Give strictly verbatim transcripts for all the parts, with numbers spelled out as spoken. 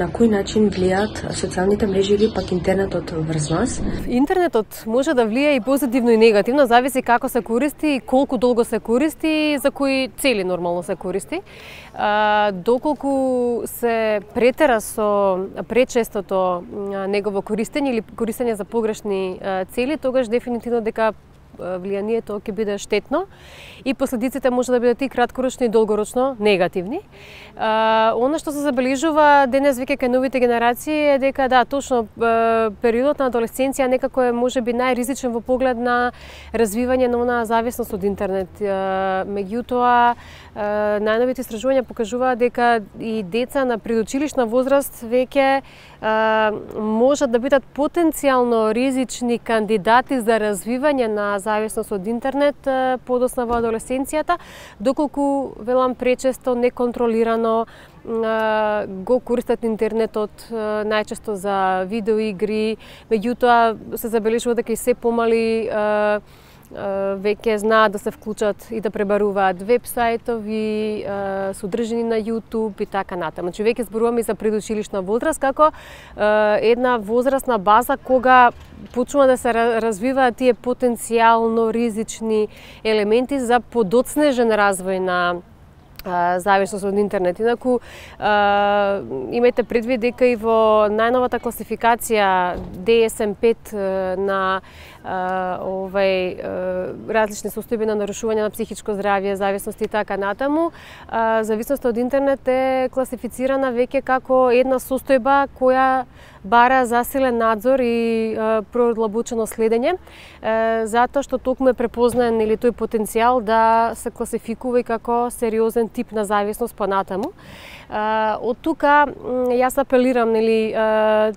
На кој начин влијаат социјалните мрежи или пак интернетот врз нас? Интернетот може да влијае и позитивно и негативно, зависи како се користи и колку долго се користи и за кои цели нормално се користи. А, доколку се претера со пречестото негово користење или користење за погрешни цели, тогаш дефинитивно дека влијанието ќе биде штетно и последиците може да бидат и краткорочно и долгорочно негативни. А, она што се забележува денес веќе кај новите генерации е дека да, точно периодот на адолесценција некако е можеби најризичен во поглед на развивање на онаа зависност од интернет. Меѓутоа, најновите истражувања покажуваат дека и деца на предучилишна возраст веќе можат да бидат потенцијално ризични кандидати за развивање на зависност од интернет подоцна во адолесценцијата, доколку велам пречесто неконтролирано го користат интернетот најчесто за видеоигри, меѓутоа се забележува дека и се помали веќе знаат да се вклучат и да пребаруваат веб-сајтови, содржини на YouTube и така натаму. Значи веќе зборуваме и за предучилишна возраст како една возрастна база кога почнува да се развиваат тие потенцијално ризични елементи за подоцнежен развој на зависност од интернет. Инаку, имајте предвид дека и во најновата класификација Д С М пет на овај различни состојби на нарушување на психичко здравје, зависност и така натаму, зависноста од интернет е класифицирана веќе како една состојба која бара засилен надзор и продлабочено следење, затоа што токму е препознаен или тој потенцијал да се класификува и како сериозен тип на зависност понатаму. Од тука јас апелирам, нели,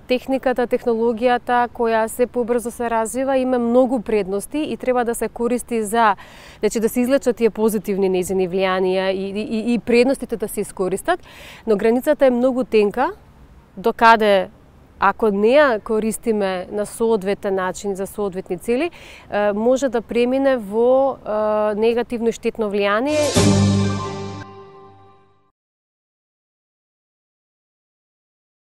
техниката, технологијата која се побрзо се развива има многу предности и треба да се користи за, значи да се излечат тие позитивни нејзини влијанија и, и, и предностите да се искористат, но границата е многу тенка докаде ако не ја користиме на соодветен начин за соодветни цели, може да премине во негативно и штетно влијание.